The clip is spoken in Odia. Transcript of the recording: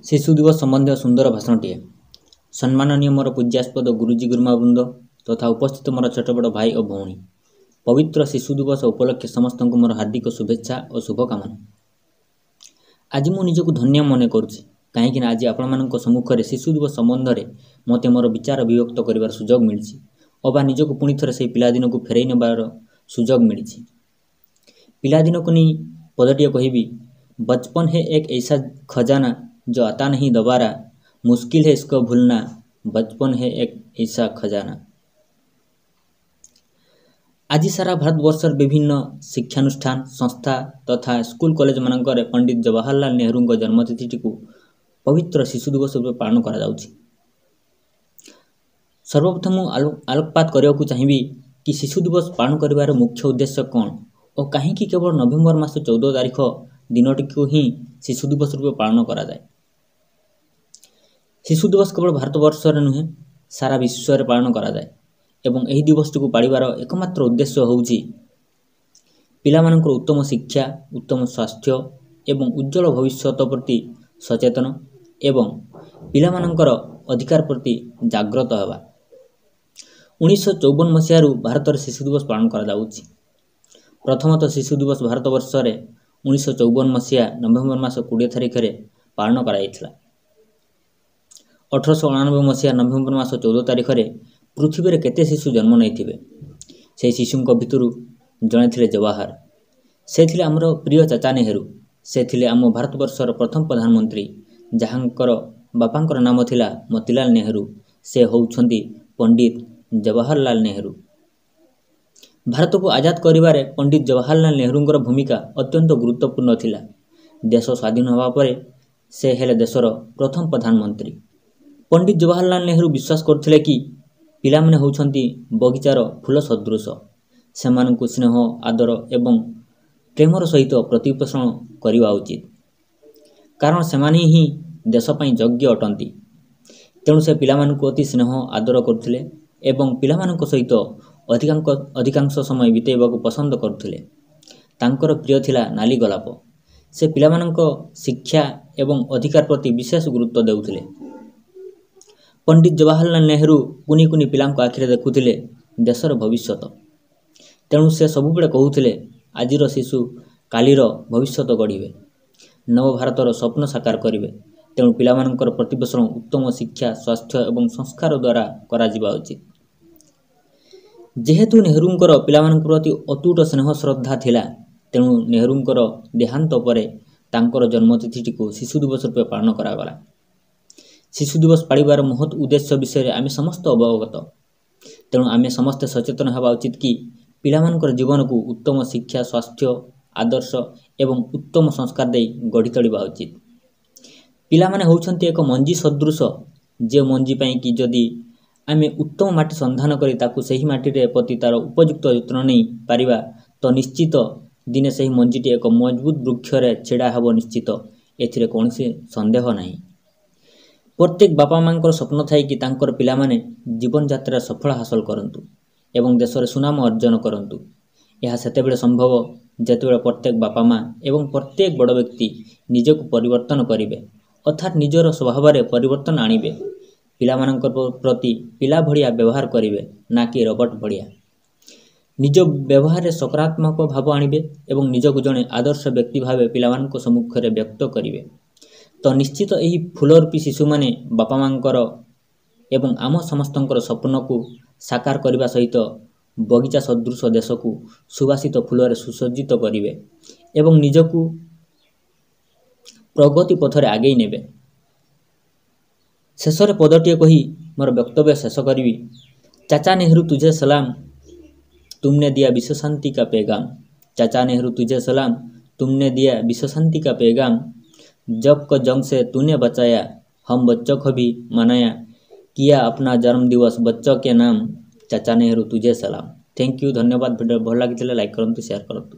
ଶିଶୁ ଦିବସ ସମ୍ବନ୍ଧୀୟ ସୁନ୍ଦର ଭାଷଣଟିଏ। ସମ୍ମାନନୀୟ ମୋର ପୂଜ୍ୟାସ୍ପଦ ଗୁରୁଜୀ ଗୁରୁମାବୃନ୍ଦ ତଥା ଉପସ୍ଥିତ ମୋର ଛୋଟ ବଡ଼ ଭାଇ ଓ ଭଉଣୀ, ପବିତ୍ର ଶିଶୁ ଦିବସ ଉପଲକ୍ଷେ ସମସ୍ତଙ୍କୁ ମୋର ହାର୍ଦ୍ଦିକ ଶୁଭେଚ୍ଛା ଓ ଶୁଭକାମନା। ଆଜି ମୁଁ ନିଜକୁ ଧନ୍ୟ ମନେ କରୁଛି, କାହିଁକିନା ଆଜି ଆପଣମାନଙ୍କ ସମ୍ମୁଖରେ ଶିଶୁ ଦିବସ ସମ୍ବନ୍ଧରେ ମୋତେ ମୋର ବିଚାର ଅଭିବ୍ୟକ୍ତ କରିବାର ସୁଯୋଗ ମିଳିଛି, ଅବା ନିଜକୁ ପୁଣି ଥରେ ସେହି ପିଲାଦିନକୁ ଫେରାଇ ନେବାର ସୁଯୋଗ ମିଳିଛି। ପିଲାଦିନକୁ ନେଇ ପଦଟିଏ କହିବି। बचपन है एक ऐसा खजाना, जो आता नहीं दोबारा, मुश्किल है इसको भूलना, बचपन है एक ऐसा खजाना। ଆଜି ସାରା ଭାରତବର୍ଷର ବିଭିନ୍ନ ଶିକ୍ଷାନୁଷ୍ଠାନ, ସଂସ୍ଥା ତଥା ସ୍କୁଲ କଲେଜମାନଙ୍କରେ ପଣ୍ଡିତ ଜବାହରଲାଲ ନେହେରୁଙ୍କ ଜନ୍ମତିଥିଟିକୁ ପବିତ୍ର ଶିଶୁ ଦିବସ ରୂପେ ପାଳନ କରାଯାଉଛି। ସର୍ବପ୍ରଥମ ମୁଁ ଆଲୋକପାତ କରିବାକୁ ଚାହିଁବି କି ଶିଶୁ ଦିବସ ପାଳନ କରିବାର ମୁଖ୍ୟ ଉଦ୍ଦେଶ୍ୟ କ'ଣ ଓ କାହିଁକି କେବଳ ନଭେମ୍ବର ମାସ 14 ତାରିଖ ଦିନଟିକୁ ହିଁ ଶିଶୁ ଦିବସ ରୂପେ ପାଳନ କରାଯାଏ। ଶିଶୁ ଦିବସ କେବଳ ଭାରତବର୍ଷରେ ନୁହେଁ, ସାରା ବିଶ୍ୱରେ ପାଳନ କରାଯାଏ ଏବଂ ଏହି ଦିବସଟିକୁ ପାଳିବାର ଏକମାତ୍ର ଉଦ୍ଦେଶ୍ୟ ହେଉଛି ପିଲାମାନଙ୍କର ଉତ୍ତମ ଶିକ୍ଷା, ଉତ୍ତମ ସ୍ୱାସ୍ଥ୍ୟ ଏବଂ ଉଜ୍ଜଳ ଭବିଷ୍ୟତ ପ୍ରତି ସଚେତନ ଏବଂ ପିଲାମାନଙ୍କର ଅଧିକାର ପ୍ରତି ଜାଗ୍ରତ ହେବା। 1954 ମସିହାରୁ ଭାରତରେ ଶିଶୁ ଦିବସ ପାଳନ କରାଯାଉଛି। ପ୍ରଥମତଃ ଶିଶୁ ଦିବସ ଭାରତବର୍ଷରେ 1954 ମସିହା ନଭେମ୍ବର ମାସ 20 ତାରିଖରେ ପାଳନ କରାଯାଇଥିଲା। 1889 ମସିହା ନଭେମ୍ବର ମାସ 14 ତାରିଖରେ ପୃଥିବୀରେ କେତେ ଶିଶୁ ଜନ୍ମ ନେଇଥିବେ, ସେହି ଶିଶୁଙ୍କ ଭିତରୁ ଜଣେ ଥିଲେ ଜବାହର। ସେ ଥିଲେ ଆମର ପ୍ରିୟ ଚାଚା ନେହେରୁ। ସେ ଥିଲେ ଆମ ଭାରତବର୍ଷର ପ୍ରଥମ ପ୍ରଧାନମନ୍ତ୍ରୀ, ଯାହାଙ୍କର ବାପାଙ୍କର ନାମ ଥିଲା ମୋତିଲାଲ ନେହେରୁ। ସେ ହେଉଛନ୍ତି ପଣ୍ଡିତ ଜବାହରଲାଲ ନେହେରୁ। ଭାରତକୁ ଆଜାଦ କରିବାରେ ପଣ୍ଡିତ ଜବାହରଲାଲ ନେହେରୁଙ୍କର ଭୂମିକା ଅତ୍ୟନ୍ତ ଗୁରୁତ୍ୱପୂର୍ଣ୍ଣ ଥିଲା। ଦେଶ ସ୍ୱାଧୀନ ହେବା ପରେ ସେ ହେଲେ ଦେଶର ପ୍ରଥମ ପ୍ରଧାନମନ୍ତ୍ରୀ। ପଣ୍ଡିତ ଜବାହରଲାଲ ନେହେରୁ ବିଶ୍ୱାସ କରୁଥିଲେ କି ପିଲାମାନେ ହେଉଛନ୍ତି ବଗିଚାର ଫୁଲ ସଦୃଶ। ସେମାନଙ୍କୁ ସ୍ନେହ, ଆଦର ଏବଂ ପ୍ରେମର ସହିତ ପ୍ରତିପୋଷଣ କରିବା ଉଚିତ, କାରଣ ସେମାନେ ହିଁ ଦେଶ ପାଇଁ ଯୋଗ୍ୟ ଅଟନ୍ତି। ତେଣୁ ସେ ପିଲାମାନଙ୍କୁ ଅତି ସ୍ନେହ ଆଦର କରୁଥିଲେ ଏବଂ ପିଲାମାନଙ୍କ ସହିତ ଅଧିକାଂଶ ସମୟ ବିତେଇବାକୁ ପସନ୍ଦ କରୁଥିଲେ। ତାଙ୍କର ପ୍ରିୟ ଥିଲା ନାଲି ଗୋଲାପ। ସେ ପିଲାମାନଙ୍କ ଶିକ୍ଷା ଏବଂ ଅଧିକାର ପ୍ରତି ବିଶେଷ ଗୁରୁତ୍ୱ ଦେଉଥିଲେ। ପଣ୍ଡିତ ଜବାହରଲାଲ ନେହେରୁ କୁନି କୁନି ପିଲାଙ୍କ ଆଖିରେ ଦେଖୁଥିଲେ ଦେଶର ଭବିଷ୍ୟତ। ତେଣୁ ସେ ସବୁବେଳେ କହୁଥିଲେ, ଆଜିର ଶିଶୁ କାଲିର ଭବିଷ୍ୟତ ଗଢ଼ିବେ, ନବଭାରତର ସ୍ୱପ୍ନ ସାକାର କରିବେ। ତେଣୁ ପିଲାମାନଙ୍କର ପ୍ରତିପୋଷଣ ଉତ୍ତମ ଶିକ୍ଷା, ସ୍ୱାସ୍ଥ୍ୟ ଏବଂ ସଂସ୍କାର ଦ୍ୱାରା କରାଯିବା ଉଚିତ। ଯେହେତୁ ନେହେରୁଙ୍କର ପିଲାମାନଙ୍କ ପ୍ରତି ଅତୁଟ ସ୍ନେହ ଶ୍ରଦ୍ଧା ଥିଲା, ତେଣୁ ନେହେରୁଙ୍କର ଦେହାନ୍ତ ପରେ ତାଙ୍କର ଜନ୍ମତିଥିଟିକୁ ଶିଶୁ ଦିବସ ରୂପେ ପାଳନ କରାଗଲା। ଶିଶୁ ଦିବସ ପାଳିବାର ମହତ୍ ଉଦ୍ଦେଶ୍ୟ ବିଷୟରେ ଆମେ ସମସ୍ତେ ଅବଗତ। ତେଣୁ ଆମେ ସମସ୍ତେ ସଚେତନ ହେବା ଉଚିତ କି ପିଲାମାନଙ୍କର ଜୀବନକୁ ଉତ୍ତମ ଶିକ୍ଷା, ସ୍ୱାସ୍ଥ୍ୟ, ଆଦର୍ଶ ଏବଂ ଉତ୍ତମ ସଂସ୍କାର ଦେଇ ଗଢ଼ି ତୋଳିବା ଉଚିତ। ପିଲାମାନେ ହେଉଛନ୍ତି ଏକ ମଞ୍ଜି ସଦୃଶ, ଯେଉଁ ମଞ୍ଜି ପାଇଁ କି ଯଦି ଆମେ ଉତ୍ତମ ମାଟି ସନ୍ଧାନ କରି ତାକୁ ସେହି ମାଟିରେ ପ୍ରତି ତା'ର ଉପଯୁକ୍ତ ଯତ୍ନ ନେଇ ପାରିବା, ତ ନିଶ୍ଚିତ ଦିନେ ସେହି ମଞ୍ଜିଟି ଏକ ମଜବୁତ ବୃକ୍ଷରେ ଛିଡ଼ା ହେବ ନିଶ୍ଚିତ, ଏଥିରେ କୌଣସି ସନ୍ଦେହ ନାହିଁ। ପ୍ରତ୍ୟେକ ବାପା ମାଆଙ୍କର ସ୍ୱପ୍ନ ଥାଏ କି ତାଙ୍କର ପିଲାମାନେ ଜୀବନଯାତ୍ରାରେ ସଫଳ ହାସଲ କରନ୍ତୁ ଏବଂ ଦେଶରେ ସୁନାମ ଅର୍ଜନ କରନ୍ତୁ। ଏହା ସେତେବେଳେ ସମ୍ଭବ ଯେତେବେଳେ ପ୍ରତ୍ୟେକ ବାପା ମା ଏବଂ ପ୍ରତ୍ୟେକ ବଡ଼ ବ୍ୟକ୍ତି ନିଜକୁ ପରିବର୍ତ୍ତନ କରିବେ, ଅର୍ଥାତ୍ ନିଜର ସ୍ୱଭାବରେ ପରିବର୍ତ୍ତନ ଆଣିବେ, ପିଲାମାନଙ୍କ ପ୍ରତି ପିଲା ଭଳିଆ ବ୍ୟବହାର କରିବେ, ନା କି ରୋବଟ ଭଳିଆ। ନିଜ ବ୍ୟବହାରରେ ସକାରାତ୍ମକ ଭାବ ଆଣିବେ ଏବଂ ନିଜକୁ ଜଣେ ଆଦର୍ଶ ବ୍ୟକ୍ତି ଭାବେ ପିଲାମାନଙ୍କ ସମ୍ମୁଖରେ ବ୍ୟକ୍ତ କରିବେ, ତ ନିଶ୍ଚିତ ଏହି ଫୁଲରୂପୀ ଶିଶୁମାନେ ବାପା ମାଆଙ୍କର ଏବଂ ଆମ ସମସ୍ତଙ୍କର ସ୍ୱପ୍ନକୁ ସାକାର କରିବା ସହିତ ବଗିଚା ସଦୃଶ ଦେଶକୁ ସୁବାସିତ ଫୁଲରେ ସୁସଜ୍ଜିତ କରିବେ ଏବଂ ନିଜକୁ ପ୍ରଗତି ପଥରେ ଆଗେଇ ନେବେ। ଶେଷରେ ପଦଟିଏ କହି ମୋର ବକ୍ତବ୍ୟ ଶେଷ କରିବି। ଚାଚା ନେହେରୁ ତୁଝେ ସଲାମ, ତୁମନେ ଦିଆ ବିଶ୍ୱ ଶାନ୍ତି କା ପେଗାମ। ଚାଚା ନେହେରୁ ତୁଝେ ସଲାମ, तुमने दिया विश्व शांति का पैगाम, जग को जंग से तूने बचाया, हम बच्चों को भी मनाया, किया अपना जन्म दिवस बच्चों के नाम, चाचा नेहरू तुझे सलाम। Thank you, ଧନ୍ୟବାଦ। ଭିଡ଼ିଓ ଭଲ ଲାଗିଥିଲେ ଲାଇକ୍ କରନ୍ତୁ, ସେୟାର କରନ୍ତୁ।